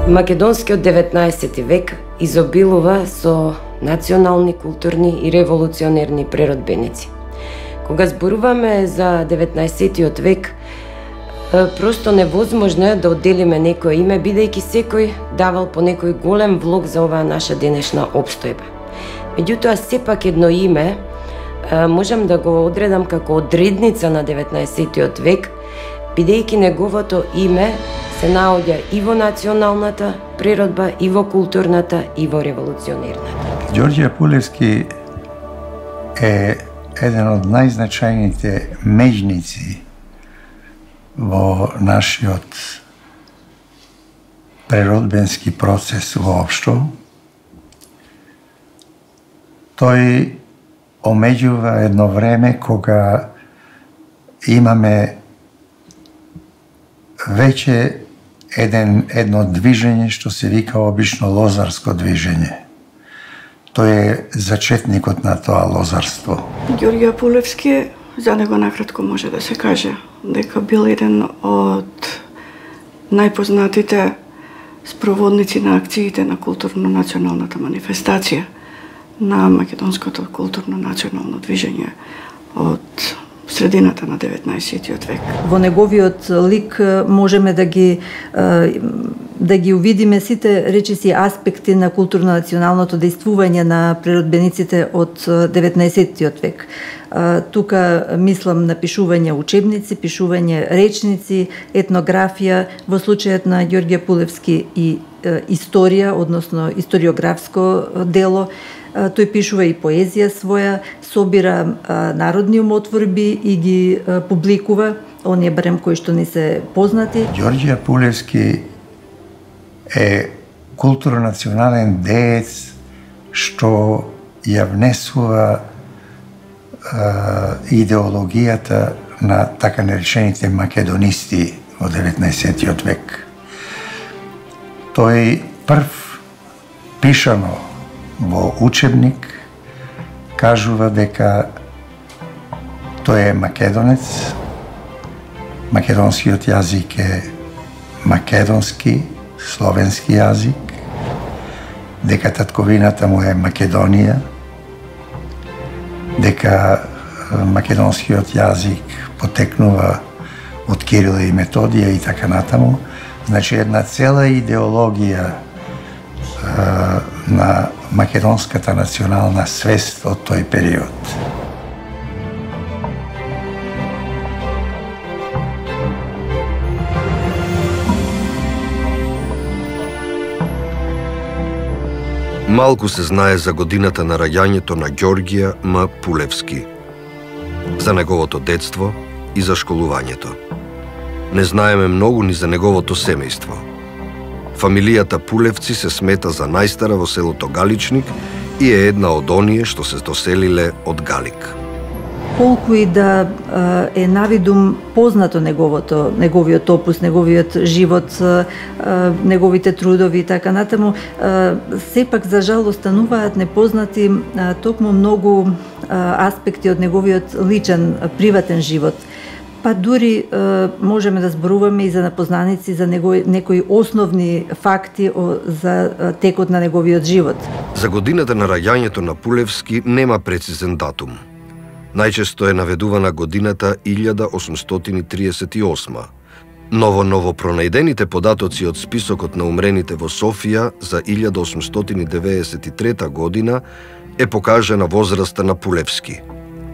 Македонскиот 19 век изобилува со национални, културни и револуционерни преродбеници. Кога зборуваме за 19 век, просто невозможно е да одделиме некое име, бидејќи секој давал по некој голем влог за оваа наша денешна опстојба. Меѓутоа, сепак едно име можам да го одредам како одредница на 19 век, бидејќи неговото име се наоѓа и во националната природба, и во културната, и во револуционерната. Ѓорѓе Пулевски е еден од најзначајните меѓници во нашиот преродбенски процес воопшто. Тој омеѓува едно време кога имаме веќе едно движење што се вика обично лозарско движење. Тој е зачетникот на тоа лозарство. Ѓорѓе Пулевски, за него накратко може да се каже дека бил еден од најпознатите спроводници на акциите на културно-националната манифестација на македонското културно-национално движење од средината на 19 век. Во неговиот лик можеме да ги увидиме сите речиси аспекти на културно-националното дејствување на преродбениците од 19 век. Тука мислам на пишување учебници, пишување речници, етнографија, во случајот на Ѓорѓе Пулевски и историја, односно историографско дело. Тој пишува и поезија своја, собира народни умотворби и ги публикува, оние барем кои што ни се познати. Ѓорѓе Пулевски е културно-национален деец што ја внесува идеологијата на така наречените македонисти во 19 век. Тој прв пишано во учебник кажува дека тој е македонец, македонскиот јазик е македонски, словенски јазик, дека татковината му е Македонија, дека македонскиот јазик потекнува од Кирил и Методија и така натаму. Значи, една цела идеологија на македонската национална свест од тој период. Малку се знае за годината на раѓањето на Ѓорѓе М. Пулевски, за неговото детство и за школувањето. Не знаеме многу ни за неговото семејство. Фамилијата Пулевци се смета за најстара во селото Галичник и е една од оние што се доселиле од Галик. Колку и да е навидум познато неговиот опус, неговиот живот, неговите трудови и така натаму, сепак за жал остануваат непознати токму многу аспекти од неговиот личен, приватен живот. Па дури можеме да зборуваме и за напознаници за некои основни факти за текот на неговиот живот. За годината на раѓањето на Пулевски нема прецизен датум. Најчесто е наведувана годината 1838. Но во новопронајдените податоци од списокот на умрените во Софија за 1893 година е покажана возраста на Пулевски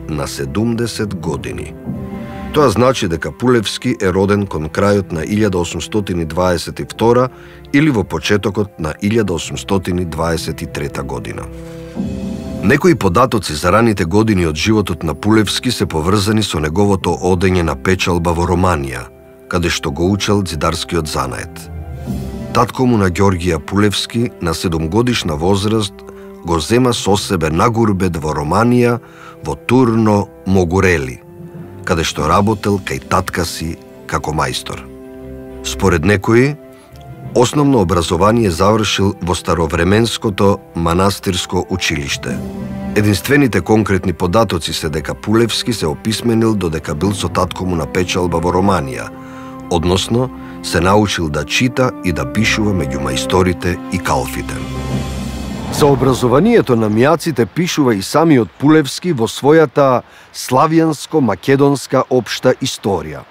на 70 години. Тоа значи дека Пулевски е роден кон крајот на 1822 или во почетокот на 1823 година. Некои податоци за раните години од животот на Пулевски се поврзани со неговото одење на печалба во Романија, каде што го учел ѕидарскиот занает. Татко му на Ѓорѓе Пулевски на 7-годишна возраст го зема со себе на гурбет во Романија, во Турно Могурели, каде што работел кај татка си како мајстор. Според некои, основно образование завршил во старовременското манастирско училиште. Единствените конкретни податоци се дека Пулевски се описменил додека бил со татко му на печалба во Романија, односно се научил да чита и да пишува меѓу мајсторите и калфите. За образованието на мијаците пишува и самиот Пулевски во својата славјанско-македонска општа историја.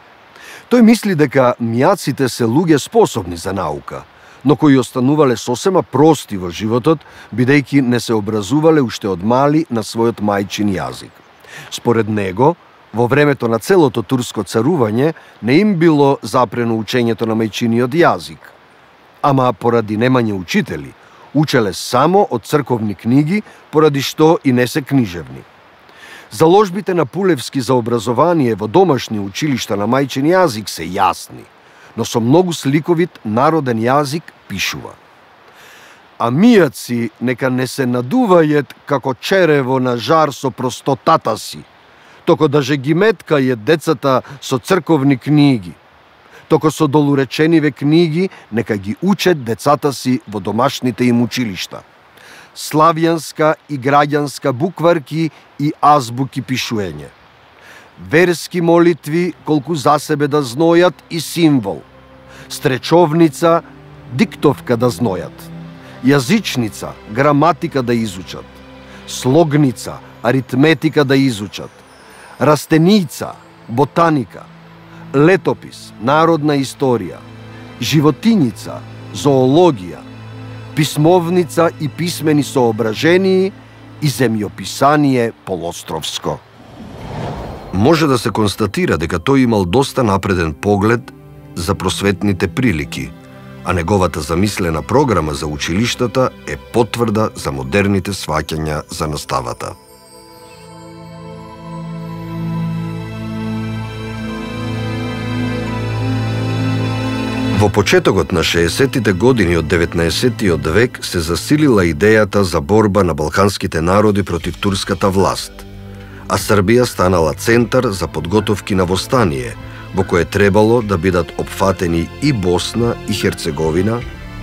Тој мисли дека мијаците се луѓе способни за наука, но кои останувале сосема прости во животот, бидејќи не се образувале уште од мали на својот мајчин јазик. Според него, во времето на целото турско царување не им било запрено учењето на мајчиниот јазик, ама поради немање учители, учеле само од црковни книги, поради што и не се книжевни. Заложбите на Пулевски за образование во домашни училишта на мајчин јазик се јасни, но со многу сликовит народен јазик пишува. А мијаци нека не се надувајат како черево на жар со простотата си, токо даже ги меткајат децата со црковни книги, токо со долуречениве книги нека ги учат децата си во домашните им училишта. Славјанска и граѓанска букварки и азбуки пишуење. Верски молитви колку за себе да знојат и символ. Стречовница, диктовка да знојат. Јазичница, граматика да изучат. Слогница, аритметика да изучат. Растеница, ботаника. Летопис, народна историја. Животињица, зоологија. Писмовница и писмени соображении и земјописание полостровско. Може да се констатира дека тој имал доста напреден поглед за просветните прилики, а неговата замислена програма за училиштата е потврда за модерните сваќања за наставата. Во почетокот на 60-тите години од 19-тиот век се засилила идејата за борба на балканските народи против турската власт, а Србија станала центар за подготовки на востание, во кое требало да бидат опфатени и Босна и Херцеговина,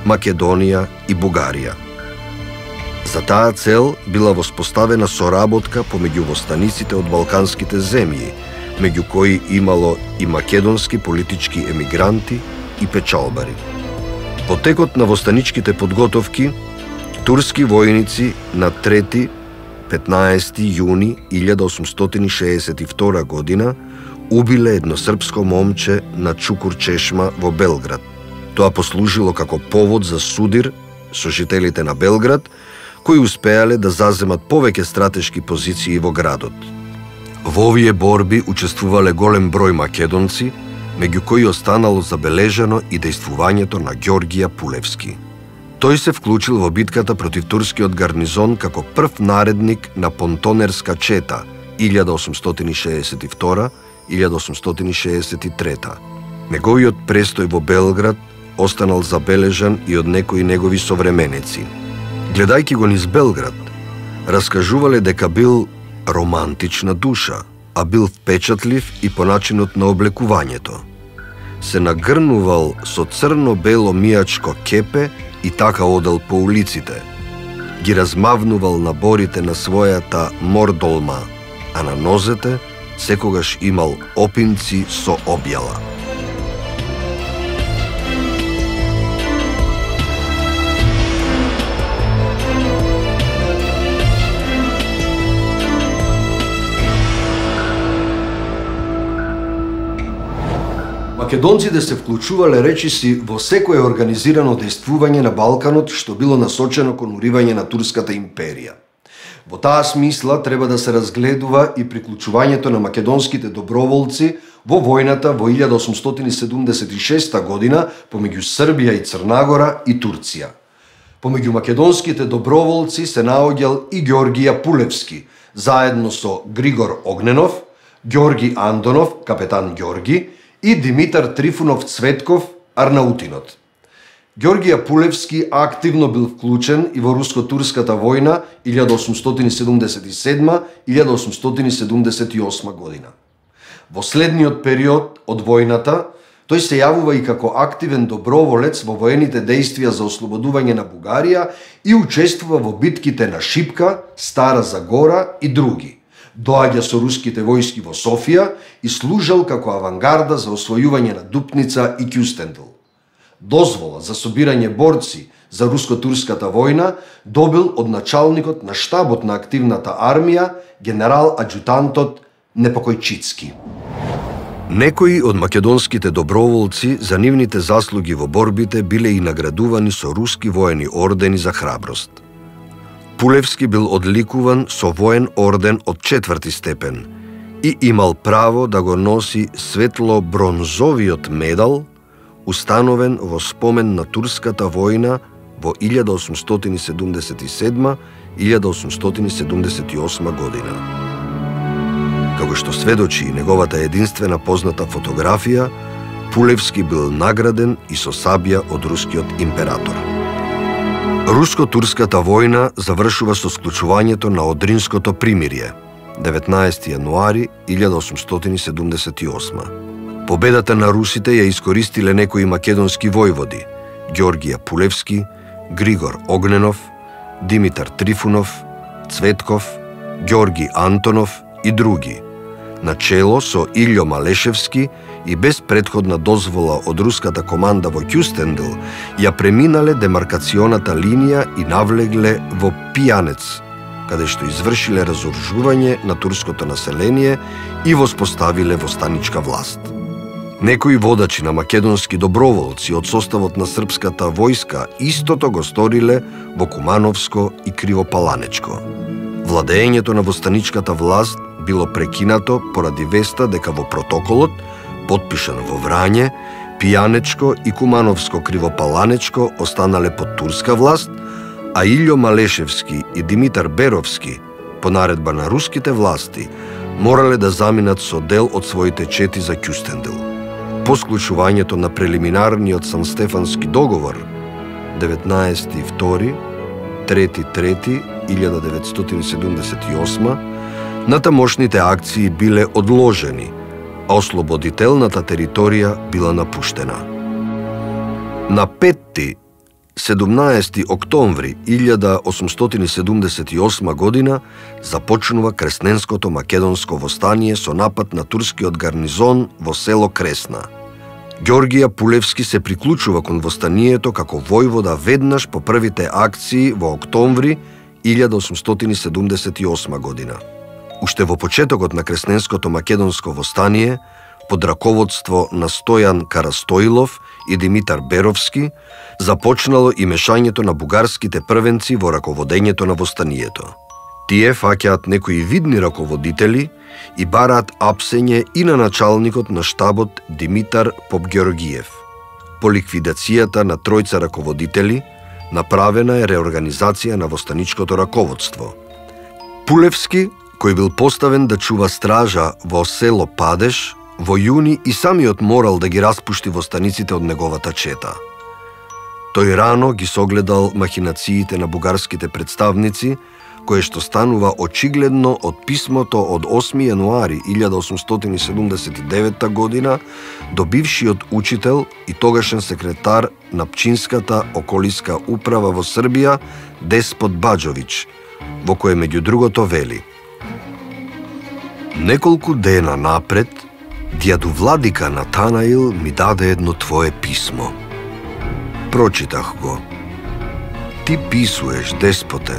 Македонија и Бугарија. За таа цел била воспоставена соработка помеѓу востаниците од балканските земји, меѓу кои имало и македонски политички емигранти и печалбари. По текот на востаничките подготовки, турски војници на 3-15 јуни 1862 година убиле едно српско момче на Чукур Чешма во Белград. Тоа послужило како повод за судир со жителите на Белград, кои успеале да заземат повеќе стратешки позиции во градот. Во овие борби учествувале голем број македонци, меѓу кои останало забележано и дејствувањето на Ѓоргија Пулевски. Тој се вклучил во битката против турскиот гарнизон како прв наредник на Понтонерска чета 1862-1863. Неговиот престој во Белград останал забележан и од некои негови современици. Гледајќи го низ Белград, раскажувале дека бил романтична душа, а бил впечатлив и по начинот на облекувањето. Се нагрнувал со црно-бело мијачко кепе и така одел по улиците. Ги размавнувал наборите на својата мордолма, а на нозете секогаш имал опинци со објала. Македонците се вклучувале речиси во секое организирано дејствување на Балканот што било насочено кон уривање на Турската империја. Во таа смисла треба да се разгледува и приклучувањето на македонските доброволци во војната во 1876 година помеѓу Србија и Црнагора и Турција. Помеѓу македонските доброволци се наоѓал и Ѓоргија Пулевски, заедно со Григор Огненов, Ѓорги Андонов, капетан Ѓорги, и Димитар Трифунов Цветков, Арнаутинот. Ѓоргија Пулевски активно бил вклучен и во руско-турската војна 1877-1878 година. Во следниот период од војната, тој се јавува и како активен доброволец во воените дејствија за ослободување на Бугарија и учествува во битките на Шипка, Стара Загора и други. доаѓа со руските војски во Софија и служел како авангарда за освојување на Дупница и Кјустендил. Дозвола за собирање борци за руско-турската војна добил од началникот на штабот на активната армија, генерал-аџутантот Непокојчицки. Некои од македонските доброволци за нивните заслуги во борбите биле и наградувани со руски воени ордени за храброст. Пулевски бил одликуван со воен орден од 4 степен и имал право да го носи светло-бронзовиот медал, установен во спомен на турската војна во 1877-1878 година. Како што сведочи и неговата единствена позната фотографија, Пулевски бил награден и со сабја од рускиот император. Руско-турската војна завршува со склучувањето на Одринското примирие, 19 јануари 1878. Победата на русите ја искористиле некои македонски војводи: Ѓоргија Пулевски, Григор Огненов, Димитар Трифунов, Цветков, Ѓорги Антонов и други, начело со Илјо Малешевски, и без претходна дозвола од руската команда во Кјустендил ја преминале демаркационата линија и навлегле во Пијанец, каде што извршиле разоружување на турското население и воспоставиле востаничка власт. Некои водачи на македонски доброволци од составот на српската војска истото го сториле во Кумановско и Кривопаланечко. Владеењето на востаничката власт било прекинато поради веста дека во протоколот, подпишан во Врање, Пијанечко и Кумановско Кривопаланечко останале под турска власт, а Илјо Малешевски и Димитар Беровски, по наредба на руските власти, морале да заминат со дел од своите чети за Кјустендил. По склучувањето на прелиминарниот Санстефански договор 19.3.1978, натамошните акции биле одложени, а ослободителната територија била напуштена. На 5-17 октомври 1878 година започнува Кресненското македонско востание со напад на турскиот гарнизон во село Кресна. Ѓоргија Пулевски се приклучува кон востанието како војвода веднаш по првите акции во октомври 1878 година. Уште во почетокот на Кресненското македонско востание, под раководство на Стојан Карастоилов и Димитар Беровски, започнало и мешањето на бугарските првенци во раководењето на востанието. Тие фаќаат некои видни раководители и бараат апсење и на началникот на штабот Димитар Попгеоргиев. По ликвидацијата на тројца раководители, направена е реорганизација на востаничкото раководство. Пулевски, кој бил поставен да чува стража во село Падеш, во јуни и самиот морал да ги распушти востаниците од неговата чета. Тој рано ги согледал махинациите на бугарските представници, кое што станува очигледно од писмото од 8 јануари 1879 година до бившиот учител и тогашен секретар на Пчинската околиска управа во Србија Деспот Баџовиќ, во кое меѓу другото вели: неколку дена напред, дјаду владика Натанаил ми даде едно твое писмо. Прочитах го. Ти писуеш, деспоте,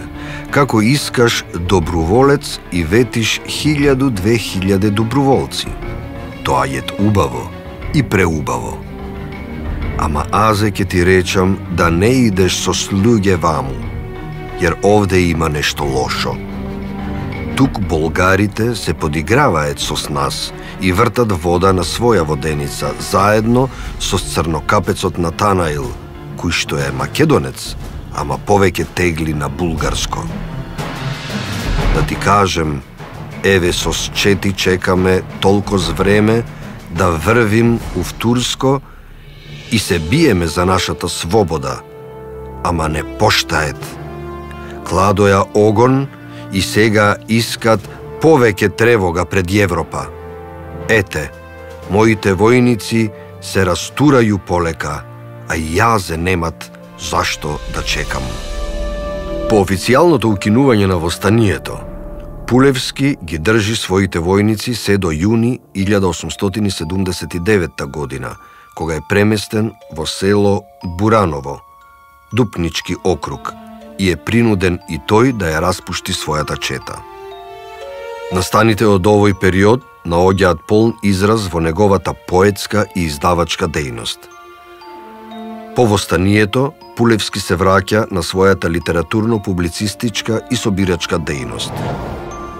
како искаш доброволец и ветиш 1000-2000 доброволци. Тоа е убаво и преубаво. Ама азе ке ти речам да не идеш со слуѓе ваму, јер овде има нешто лошо. Тук болгарите се подиграваат со нас и вртат вода на своја воденица заедно со црнокапецот Натанаил, кој што е македонец, ама повеќе тегли на булгарско. Да ти кажем, еве со счети чекаме толкоз време да врвим ув Турско и се биеме за нашата свобода, ама не поштает. Кладоја огон и сега искат повеќе тревога пред Европа. Ете, моите војници се растурају полека, а јазе немат зашто да чекам. По официјалното укинување на востанието, Пулевски ги држи своите војници се до јуни 1879 година, кога е преместен во село Бураново, Дупнички округ, и е принуден и тој да ја распушти својата чета. Настаните од овој период наоѓаат полн израз во неговата поетска и издавачка дејност. По восстанието, Пулевски се враќа на својата литературно-публицистичка и собирачка дејност.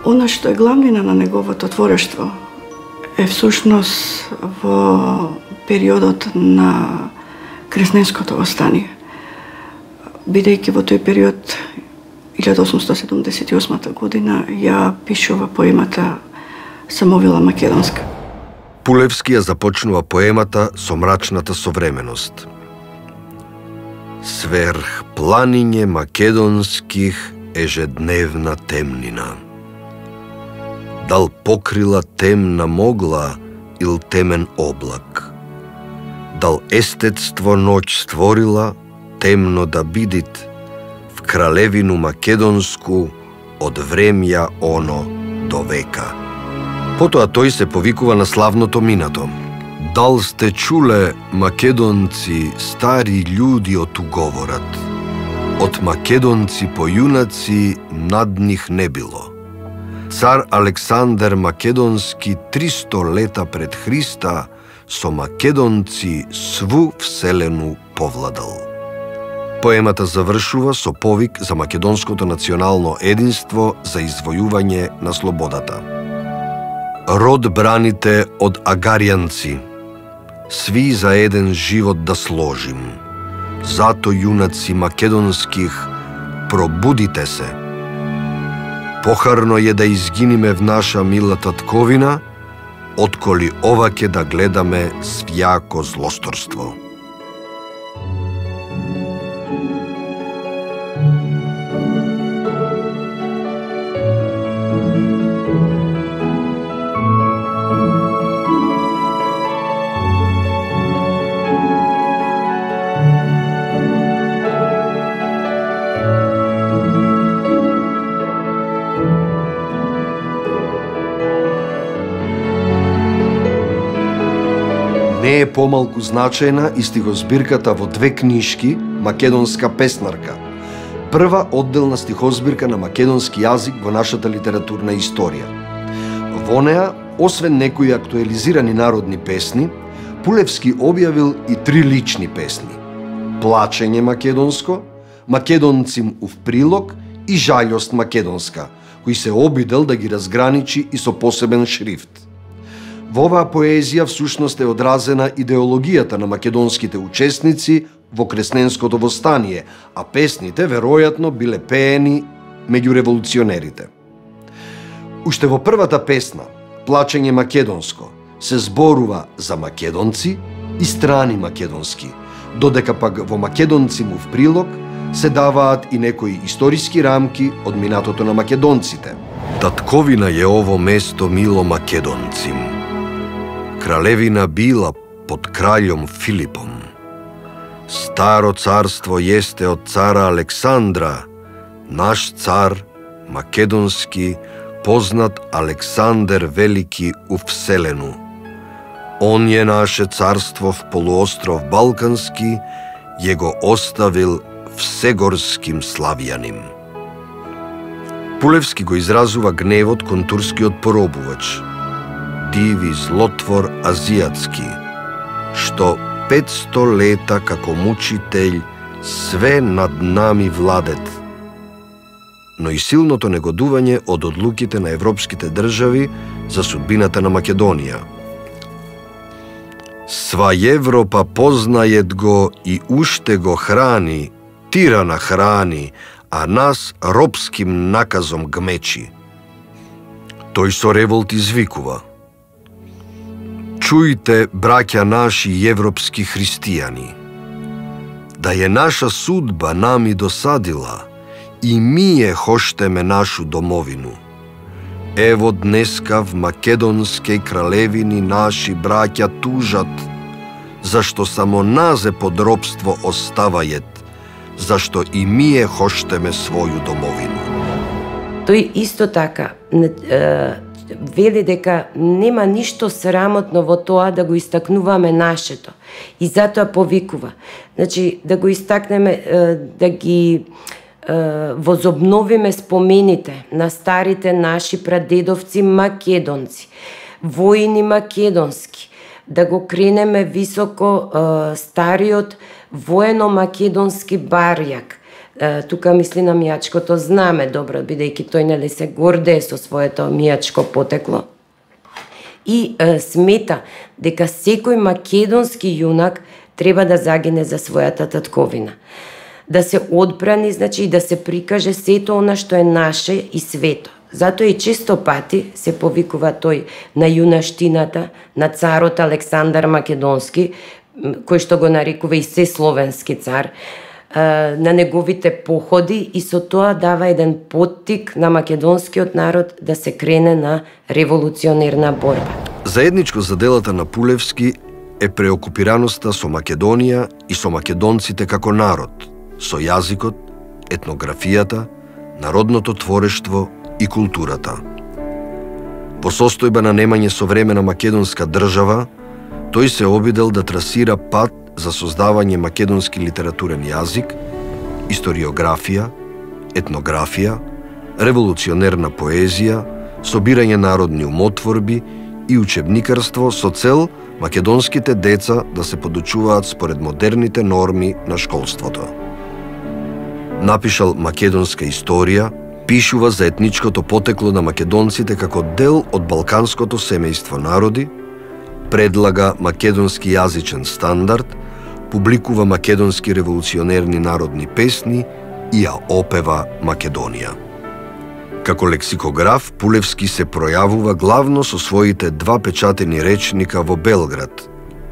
Она што е главнина на неговото творештво е всушност во периодот на Кресненското восстание. Бидејќи во тој период 1878 година ја пишува поемата Самовила македонска. Пулевски ја започнува поемата со мрачната современост. Сверх планиње македонских ежедневна темнина. Дал покрила темна могла ил темен облак. Дал естетство ноќ створила темно да бидит в кралевину македонску од времја оно до века. Потоа тој се повикува на славното минато. Дал сте чуле, македонци, стари људи отуговорат. Од македонци појунаци над нив не било. Цар Александер Македонски 300 лета пред Христа со македонци сву вселену повладал. Поемата завршува со повик за македонското национално единство за извојување на слободата. Род браните од агаријанци, сви за еден живот да сложим. Зато, јунаци македонских, пробудите се. Похарно е да изгиниме в наша мила татковина, отколи оваќе да гледаме свјако злосторство. Не е помалку значајна и стихозбирката во две книжки Македонска песнарка, прва одделна стихозбирка на македонски јазик во нашата литературна историја. Во неа, освен некои актуализирани народни песни, Пулевски објавил и 3 лични песни: Плачење македонско, Македонцим ув прилог и Жалјост македонска, кои се обидел да ги разграничи и со посебен шрифт. Во оваа поезија всушност е одразена идеологијата на македонските учесници во Кресненското восстание, а песните веројатно биле пеени меѓу револуционерите. Уште во првата песна, Плачење македонско, се зборува за македонци и страни македонски, додека пак во Македонцим ув прилог се даваат и некои историски рамки од минатото на македонците. Татковина е ово место мило македонцим. Кралевина била под краљом Филипом. Старо царство јесте од цара Александра, наш цар, македонски, познат Александер Велики у вселену. Он е наше царство в полуостров Балкански, ја го оставил всегорским славјаним. Пулевски го изразува гневот кон турскиот поробувач, диви злотвор азијатски, што 500 лета како мучител све над нами владет, но и силното негодување од одлуките на европските држави за судбината на Македонија. Сва Европа познајет го и уште го храни, тирана храни, а нас робским наказом гмечи. Тој со револт извикува: Чујте, браќа наши европски христијани, да е наша судба нами досадила, и ние хоштеме нашу домовину. Ево днеска в македонскej кралевини наши браќа тужат, зашто само назе под робство оставајет, зашто и ние хоштеме своју домовину. Тој исто така вели дека нема ништо срамотно во тоа да го истакнуваме нашето. И затоа повикува. Значи, да го истакнеме, да ги возобновиме спомените на старите наши прадедовци македонци, воини македонски, да го кренеме високо стариот воено-македонски барјак. Тука мисли на мијачкото знаме добро, бидејќи тој нели се гордее со своето мијачко потекло. И смета дека секој македонски јунак треба да загине за својата татковина. Да се одбрани, значи, и да се прикаже сето она што е наше и свето. Затоа и често пати се повикува тој на јунаштината, на царот Александар Македонски, кој што го нарекува и Сесловенски цар, на неговите походи, и со тоа дава еден поттик на македонскиот народ да се крене на револуционерна борба. Заедничко за делата на Пулевски е преокупираноста со Македонија и со македонците како народ, со јазикот, етнографијата, народното творештво и културата. Во состојба на немање современа македонска држава, тој се обидел да трасира пат за создавање македонски литературен јазик, историографија, етнографија, револуционерна поезија, собирање народни умотворби и учебникарство со цел македонските деца да се подучуваат според модерните норми на школството. Напишал македонска историја, пишува за етничкото потекло на македонците како дел од балканското семејство народи, предлага македонски јазичен стандард, публикува македонски револуционерни народни песни и ја опева Македонија. Како лексикограф, Пулевски се пројавува главно со своите два печатени речника во Белград.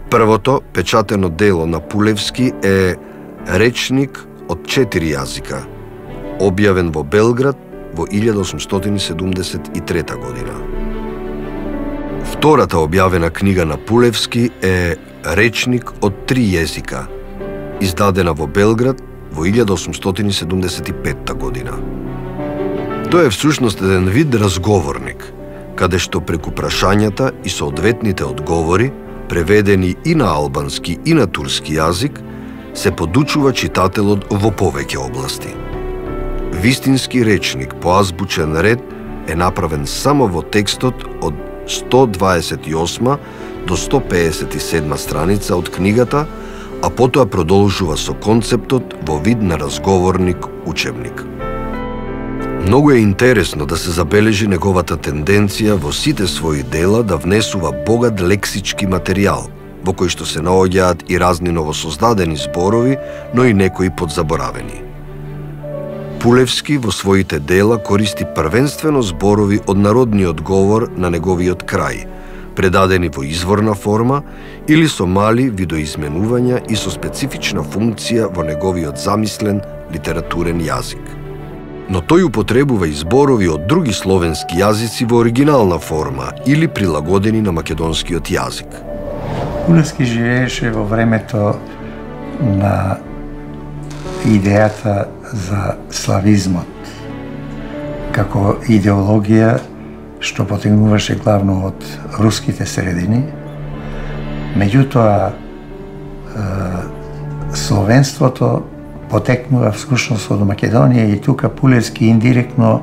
Првото печатено дело на Пулевски е речник од 4 јазика, објавен во Белград во 1873 година. Втората објавена книга на Пулевски е речник од 3 језика, издадена во Белград во 1875 година. Тоа е всушност еден вид разговорник, каде што преку прашањата и соодветните одговори, преведени и на албански и на турски јазик, се подучува читателот во повеќе области. Вистински речник по азбучен ред е направен само во текстот од 128 до 157 страница од книгата, а потоа продолжува со концептот во вид на разговорник учебник. Многу е интересно да се забележи неговата тенденција во сите своји дела да внесува богат лексички материјал, во кој што се наоѓаат и разни новосоздадени зборови, но и некои подзаборавени. Пулевски во своите дела користи првенствено зборови од народниот говор на неговиот крај, предадени во изворна форма или со мали видоизменувања и со специфична функција во неговиот замислен литературен јазик. Но тој употребува и зборови од други словенски јазици во оригинална форма или прилагодени на македонскиот јазик. Пулевски живееше во времето на идејата за славизмот, како идеологија што потегнуваше главно од руските средини. Меѓутоа, словенството потекнува всушност од Македонија и тука Пулевски индиректно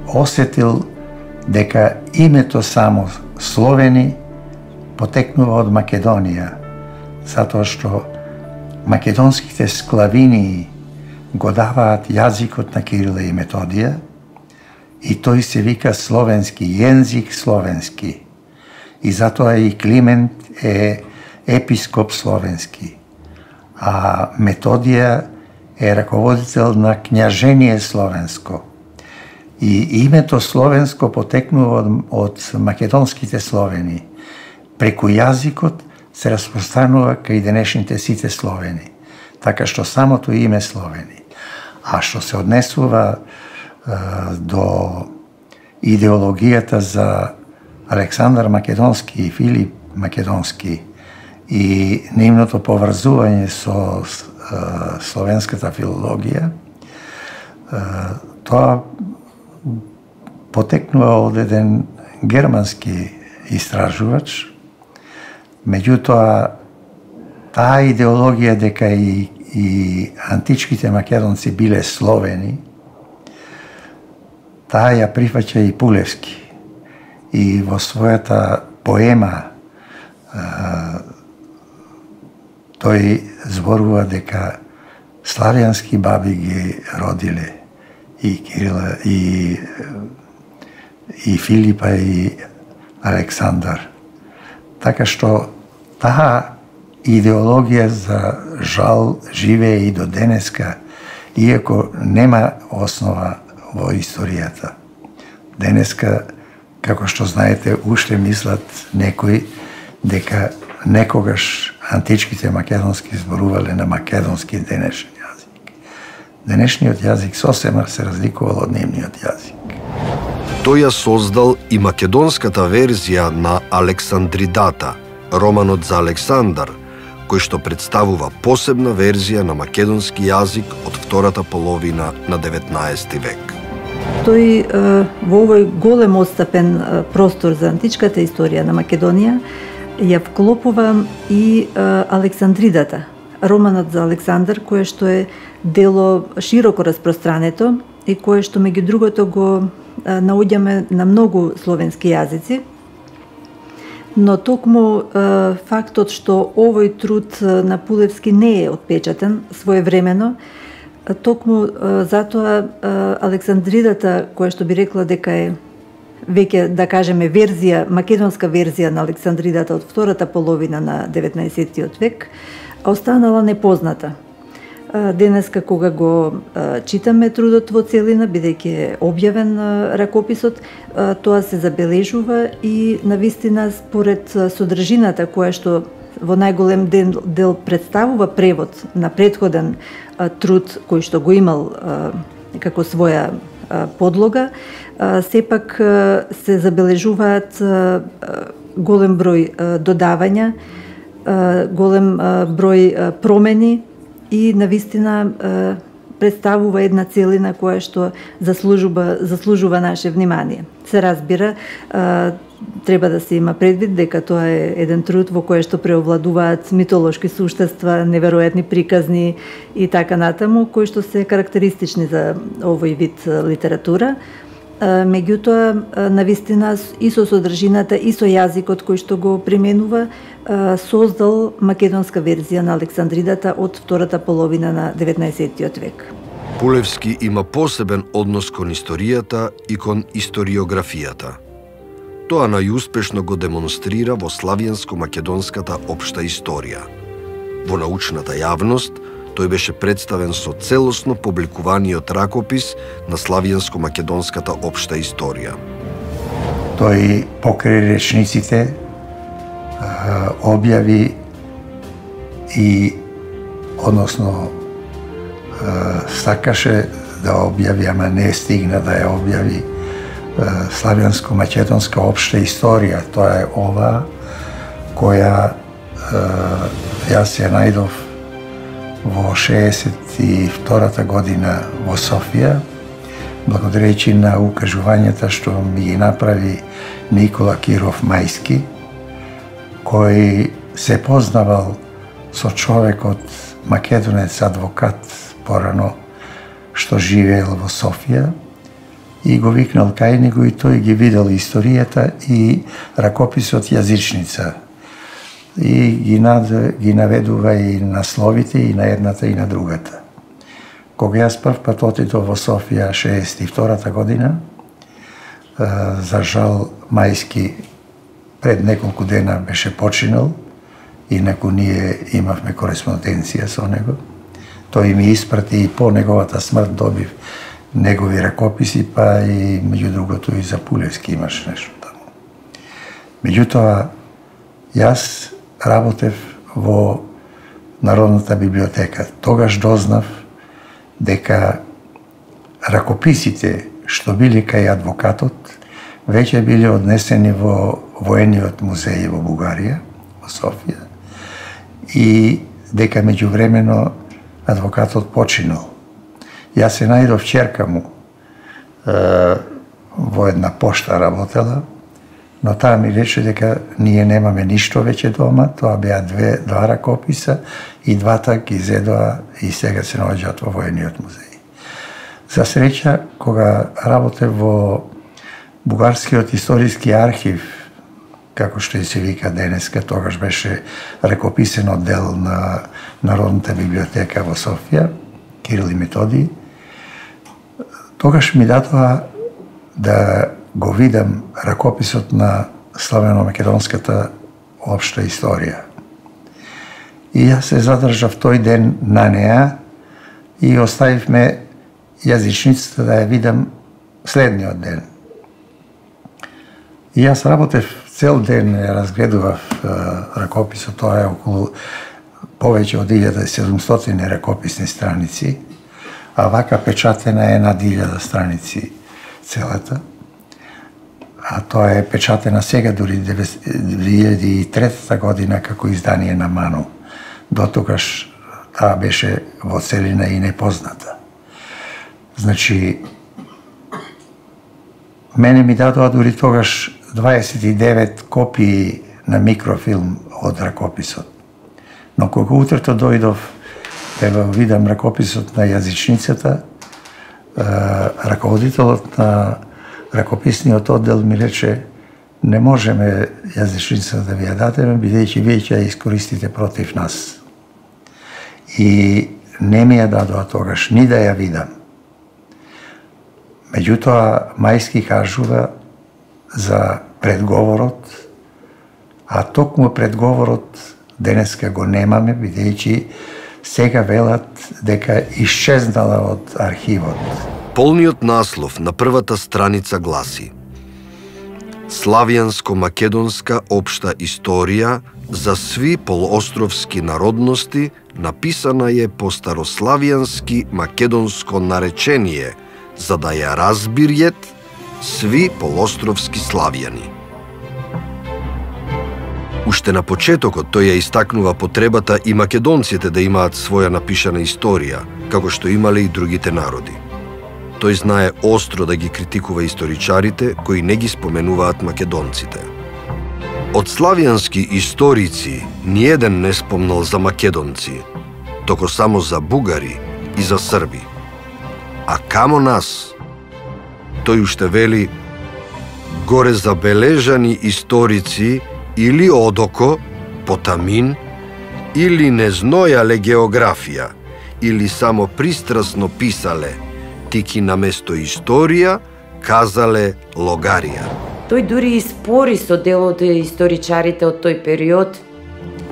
осетил дека името само Словени потекнува од Македонија, затоа што македонските склавини го даваат јазикот на Кирила и Методија и тој се вика словенски, јензик словенски. И затоа и Климент е епископ словенски, а Методија е раководител на књажение словенско. И името словенско потекнува од македонските словени. Преку јазикот се распространува кај денешните сите словени, така што самото име Словени. А што се однесува до идеологијата за Александар Македонски и Филип Македонски и нивното поврзување со словенската филологија, Тоа потекнува од еден германски истражувач, меѓутоа таа идеологија дека и античките македонци биле словени, таа ја прифаќа и Пулевски. И во својата поема тој зборува дека славјански баби ги родиле и Кирила, и Филипа, и Александар. Така што таа идеологија за жал живее и до денеска, иако нема основа во историјата. Денеска, како што знаете, уште мислат некои дека некогаш античките македонски зборувале на македонски денешен јазик. Денешниот јазик сосема се разликувал од нивниот јазик. Тој ја создал и македонската верзија на Александридата, романот за Александар, кој што представува посебна верзија на македонски јазик од втората половина на 19 век. Тој во овој голем отстапен простор за античката историја на Македонија ја вклопува и Александридата, романот за Александар, кое што е дело широко распространето и кое што меѓу другото го наоѓаме на многу словенски јазици. Но токму фактот што овој труд на Пулевски не е отпечатен своевремено, токму затоа Александридата, која што би рекла дека е веќе, да кажеме, верзија, македонска верзија на Александридата од втората половина на 19 век, останала непозната. Денеска кога го читаме трудот во целина, бидејќи е објавен ракописот, тоа се забележува и навистина според содржината која што во најголем дел представува превод на претходен труд кој што го имал како своја подлога, сепак се забележуваат голем број додавања, голем број промени и навистина представува една целина која што заслужува наше внимание. Се разбира, треба да се има предвид дека тоа е еден труд во кој што преовладуваат митолошки суштества, неверојатни приказни и така натаму, кои што се карактеристични за овој вид литература. Меѓутоа, навистина и со содржината и со јазикот кој што го применува, создал македонска верзија на Александридата од втората половина на 19 век. Пулевски има посебен однос кон историјата и кон историографијата. Тоа најуспешно го демонстрира во славјанско-македонската општа историја. Во научната јавност, тој беше представен со целосно публикуваниот ракопис на славјанско-македонската општа историја. Тој покрај речниците објави и, односно, сакаше да објави, ама не стигна да ја објави, славјанско-македонска општа историја. Тоа е ова која јас ја најдов во 62-та година во Софија, благодарејќи на укажувањата што ми ги направи Никола Киров Мајски, кој се познавал со човекот македонец адвокат порано што живеел во Софија и го викнал кај него и тој ги видел историјата и ракописот јазичница. И ги наведува и насловите и на едната и на другата. Кога јас прв пат отидов во Софија 62-та година, за жал Мајски пред неколку дена беше починал, инаку ние имавме кореспонденција со него. Тој ми испрати и по неговата смрт добив негови ракописи, па и меѓу другото и за Пулевски имаш нешто таму. Меѓутоа, јас работев во Народната библиотека. Тогаш дознав дека ракописите што били кај адвокатот веќе биле однесени во воениот музеј во Бугарија, во Софија, и дека меѓувремено адвокатот починал. Јас се најдов черка му во една пошта работела, но таа ми рече дека ние немаме ништо веќе дома, тоа беа два ракописа и двата ги зедоа и сега се наоѓаат во воениот музеј. За среќа, кога работев во Бугарскиот историски архив, како што и се вика денеска, тогаш беше ракописен оддел на Народната библиотека во Софија, Кирил и Методий, тогаш ми дадоа да го видам ракописот на славено-македонската општа историја. И јас се задржав тој ден на неа и оставивме јазичницата да ја видам следниот ден. И јас работев цел ден, ја разгледував ракописот, тоа е околу повеќе од 1700 ракописни страници, а вака печатена е над 1000 страници целата. А тоа е печатена сега, дури 2003 година, како издание на Ману. Дотогаш таа беше во целина и непозната. Значи, мене ми дадоа дури тогаш 29 копии на микрофилм од ракописот. Но кога утрето дојдов да видам ракописот на јазичницата, раководителот на ракописниот оддел ми рече: не можеме јазичницата да ви ја дадеме, бидејќи вие ќе ја искористите против нас. И не ми ја дадоа тогаш ни да ја видам. Меѓутоа, Мајски кажува за предговорот, а токму предговорот денеска го немаме, бидејќи сега велат дека исчезнала од архивот. Полниот наслов на првата страница гласи: Славјанско-македонска општа историја за сви полуостровски народности, написана е по старославјански македонско наречение, за да ја разбириет сви полуостровски славјани. Уште на почетокот тој ја истакнува потребата и македонците да имаат своја напишана историја, како што имале и другите народи. Тој знае остро да ги критикува историчарите кои не ги споменуваат македонците. Од славјански историци ниеден не спомнал за македонци, току само за бугари и за срби. А камо нас? Тој уште вели: горе забележани историци или одоко, потамин, или не знојале географија, или само пристрасно писале, тики наместо историја казале логарија. Тој дури и спори со дел од историчарите од тој период.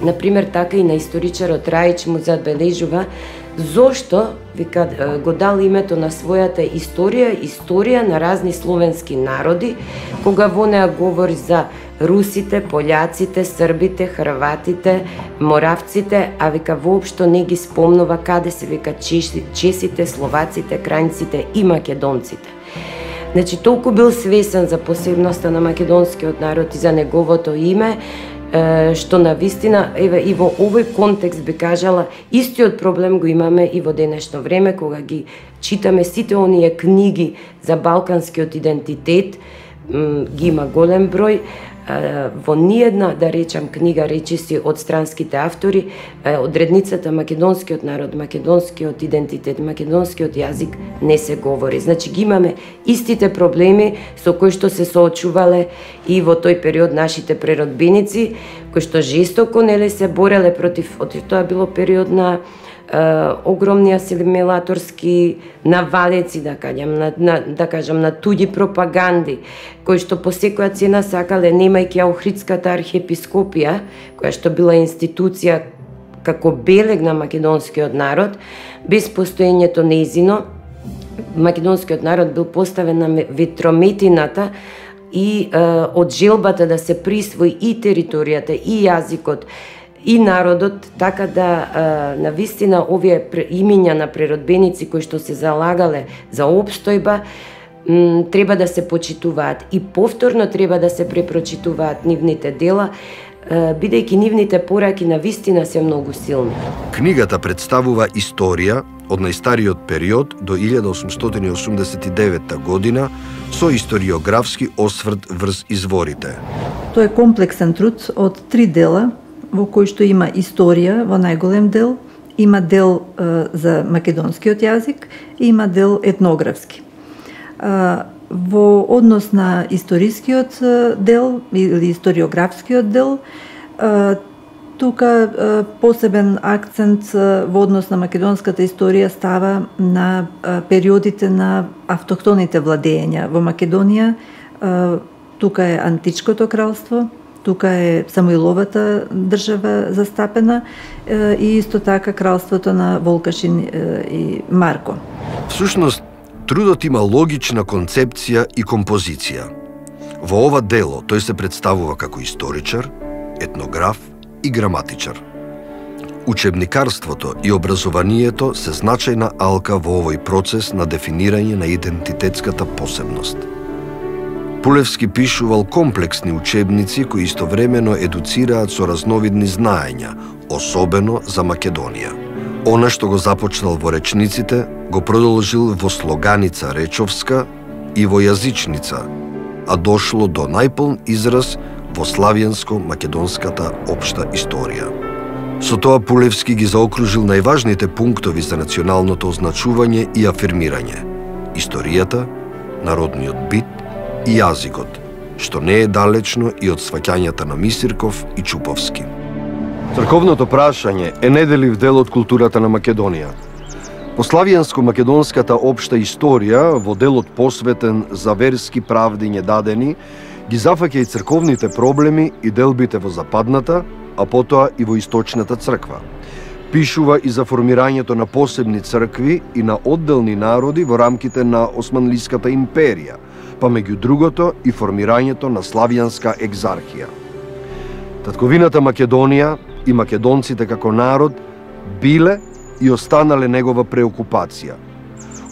Например, така и на историчарот Раич му забележува зошто, вика, го дал името на својата историја на разни словенски народи, кога во неа говори за русите, пољаците, србите, хрватите, моравците, а вика воопшто не ги спомнува каде се, вика, чесите, словаците, крајнците и македонците. Значи, толку бил свесен за посебноста на македонскиот народ и за неговото име, што на вистина, еве, и во овој контекст би кажала, истиот проблем го имаме и во денешно време, кога ги читаме сите оние книги за балканскиот идентитет, ги има голем број, во ниедна, да речам, книга речиси од странските автори, одредницата македонскиот народ, македонскиот идентитет, македонскиот јазик не се говори. Значи ги имаме истите проблеми со кои што се соочувале и во тој период нашите преродбеници, кои што жестоко нели се бореле против, тоа било период на огромни асимилаторски навалеци, да кажам, на туѓи пропаганди, кои што по секоја цена сакале, немајќи Охридската архиепископија, која што била институција како белег на македонскиот народ, без постоењето нејзино, македонскиот народ бил поставен на ветрометината и од желбата да се присвои и територијата, и јазикот, и народот, така да навистина овие имиња на преродбеници кои што се залагале за опстојба, треба да се почитуваат и повторно треба да се препрочитуваат нивните дела, бидејќи нивните пораки на вистина се многу силни. Книгата представува историја од најстариот период до 1889 година со историографски осврт врз изворите. Тоа е комплексен труд од 3 дела, во кој што има историја во најголем дел, има дел за македонскиот јазик и има дел етнографски. Во однос на историскиот дел или историографскиот дел, тука посебен акцент во однос на македонската историја става на периодите на автохтоните владења во Македонија. Тука е Античкото кралство, тука е Самуиловата држава застапена и исто така кралството на Волкашин и Марко. Всушност, трудот има логична концепција и композиција. Во ова дело тој се представува како историчар, етнограф и граматичар. Учебникарството и образованието се значајна алка во овој процес на дефинирање на идентитетската посебност. Пулевски пишувал комплексни учебници кои истовремено едуцираат со разновидни знаења, особено за Македонија. Она што го започнал во речниците, го продолжил во слоганица речовска и во јазичница, а дошло до најполн израз во славјанско-македонската општа историја. Со тоа Пулевски ги заокружил најважните пунктови за националното означување и афирмирање – историјата, народниот бит и јазикот, што не е далечно и од сваќањата на Мисирков и Чуповски. Црковното прашање е неделив дел од културата на Македонија. По славјанско-македонската општа историја, во делот посветен за верски правди недадени, ги зафаќа и црковните проблеми и делбите во западната, а потоа и во источната црква. Пишува и за формирањето на посебни цркви и на одделни народи во рамките на Османлиската империја, па меѓу другото и формирањето на славјанска екзархија. Татковината Македонија и македонците како народ биле и останале негова преокупација.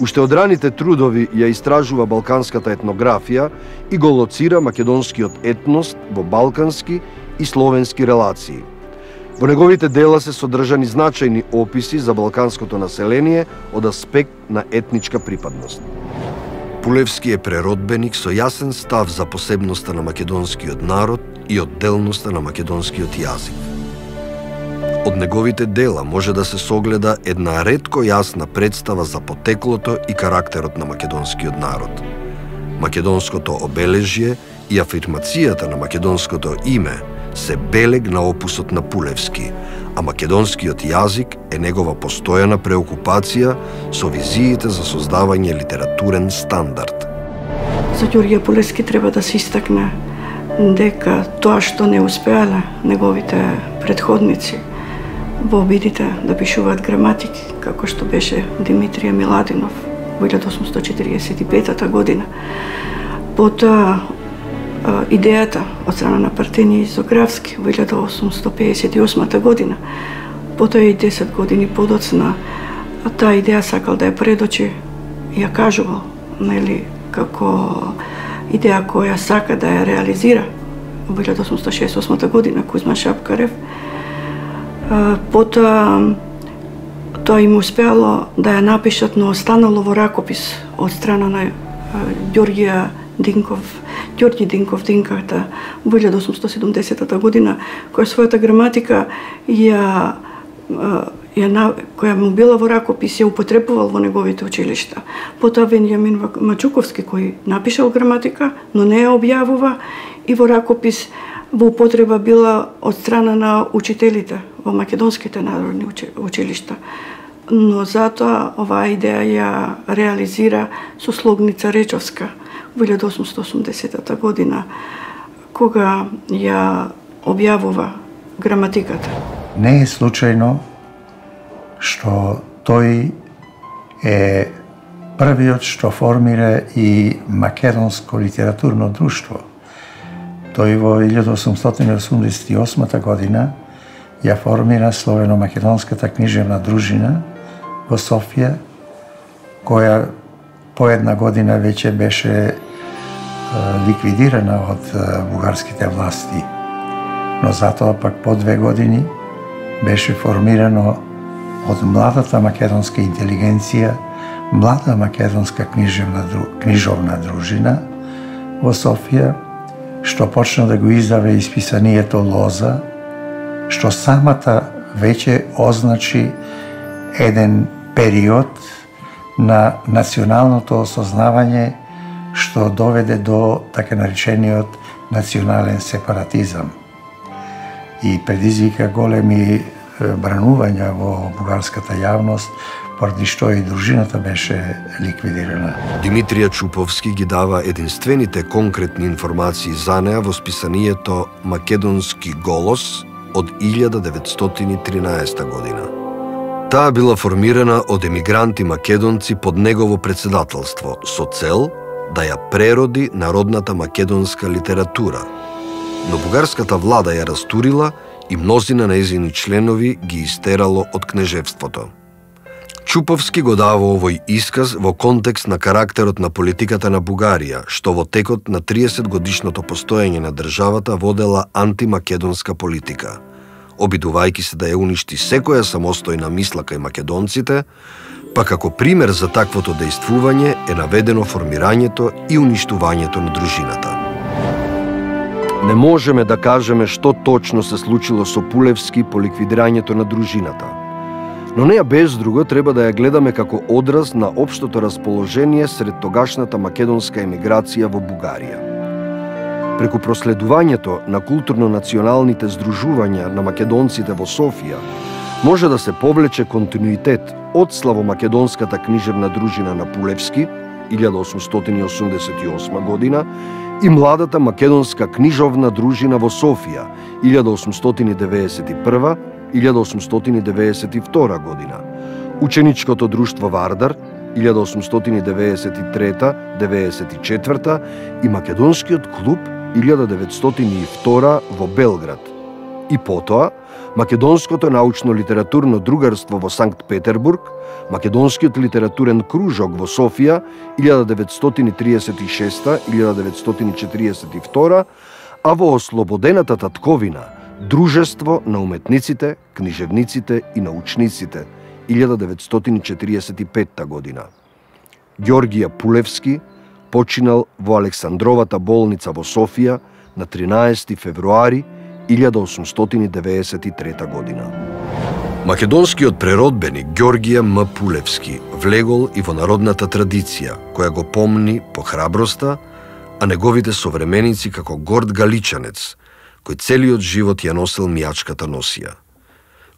Уште од раните трудови ја истражува балканската етнографија и го лоцира македонскиот етнос во балкански и словенски релации. Во неговите дела се содржани значајни описи за балканското население од аспект на етничка припадност. Пулевски е преродбеник со јасен став за посебноста на македонскиот народ и одделноста на македонскиот јазик. Од неговите дела може да се согледа една ретко јасна представа за потеклото и карактерот на македонскиот народ. Македонското обележје и афирмацијата на македонското име се белег на опусот на Пулевски, а македонскиот јазик е негова постојана преокупација со визиите за создавање литературен стандард. За Ѓорѓе Пулевски треба да се истакне дека тоа што не успеале неговите предходници во обидите да пишуваат граматики, како што беше Димитрија Миладинов во 1845 година. Потоа идејата од страна на Партенија Изографски во 1858 година, потоа и 10 години подоцна, таа идеја сакал да ја предочи, ја кажувал, нели, како идеја која сака да ја реализира во 1868 година Кузма Шапкарев. Потоа тоа им успеало да ја напишат, но останало во ракопис од страна на Ѓорѓи Динков Динката во 1870 година, која својата граматика која му била во ракопис ја употребувал во неговите училишта. Потоа Венјамин Мачуковски кој напишал граматика, но не ја објавува и во ракопис во употреба била од страна на учителите во македонските народни училишта. Но затоа оваа идеја ја реализира со слогница речовска во 1880 година, кога ја објавува граматиката. Не е случајно што тој е првиот што формира и македонско литературно друштво. Тој во 1888 година ја формира Словено-македонската книжевна дружина во Софија, која по една година веќе беше ликвидирана од бугарските власти. но затоа пак по 2 години беше формирано од младата македонска интелигенција, млада македонска книжовна дружина во Софија, што почна да го издаве исписанието Лоза, што самата веќе означи еден период на националното осознавање што доведе до така наречениот национален сепаратизам и предизвика големи бранувања во бугарската јавност, поради што и дружината беше ликвидирана. Димитрија Чуповски ги дава единствените конкретни информации за неа во списанието Македонски голос од 1913 година. Таа била формирана од емигранти македонци под негово председателство со цел да ја прероди народната македонска литература, но бугарската влада ја растурила и мнозина нејзини членови ги истерало од кнежевството. Чуповски го дава овој исказ во контекст на карактерот на политиката на Бугарија, што во текот на 30 годишното постоење на државата водела антимакедонска политика, обидувајќи се да ја уништи секоја самостојна мисла кај македонците, па како пример за таквото дејствување е наведено формирањето и уништувањето на дружината. Не можеме да кажеме што точно се случило со Пулевски по ликвидирањето на дружината, но неа без друго треба да ја гледаме како одраз на општото расположение сред тогашната македонска емиграција во Бугарија. Преку проследувањето на културно-националните здружувања на македонците во Софија, може да се повлече континуитет од славомакедонската книжевна дружина на Пулевски, 1888 година, и младата македонска книжовна дружина во Софија, 1891-1892 година, ученичкото друштво Вардар, 1893-94 и македонскиот клуб 1902 во Белград. И потоа, Македонското научно-литературно другарство во Санкт Петербург, Македонскиот литературен кружок во Софија 1936-1942, а во ослободената татковина Дружество на уметниците, книжевниците и научниците 1945 година. Ѓоргија Пулевски починал во Александровата болница во Софија на 13 февруари 1893 година. Македонскиот преродбеник Ѓоргија М. Пулевски влегол и во народната традиција, која го помни по храброста, а неговите современици како горд галичанец, кој целиот живот ја носел мијачката носија.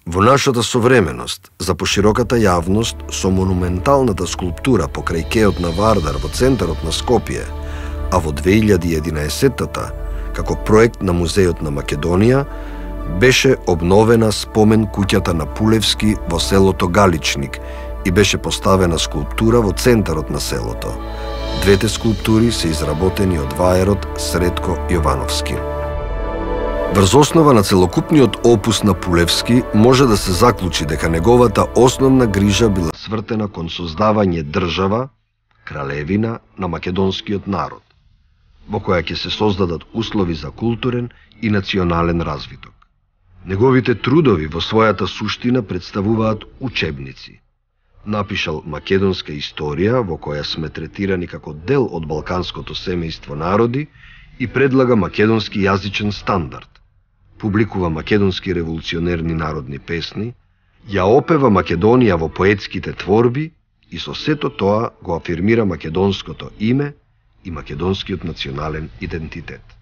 Во нашата современост, за пошироката јавност, со монументалната скулптура покрај кеот на Вардар во центарот на Скопје, а во 2011-та, како проект на Музејот на Македонија, беше обновена спомен куќата на Пулевски во селото Галичник и беше поставена скулптура во центарот на селото. Двете скулптури се изработени од ваерот Сретко Јовановски. Врз основа на целокупниот опус на Пулевски може да се заклучи дека неговата основна грижа била свртена кон создавање држава, кралевина на македонскиот народ, во која ќе се создадат услови за културен и национален развиток. Неговите трудови во својата суштина представуваат учебници. Напишал Македонска историја, во која сме третирани како дел од балканското семејство народи, и предлага македонски јазичен стандард. Публикува македонски револуционерни народни песни, ја опева Македонија во поетските творби и со сето тоа го афирмира македонското име и македонскиот национален идентитет.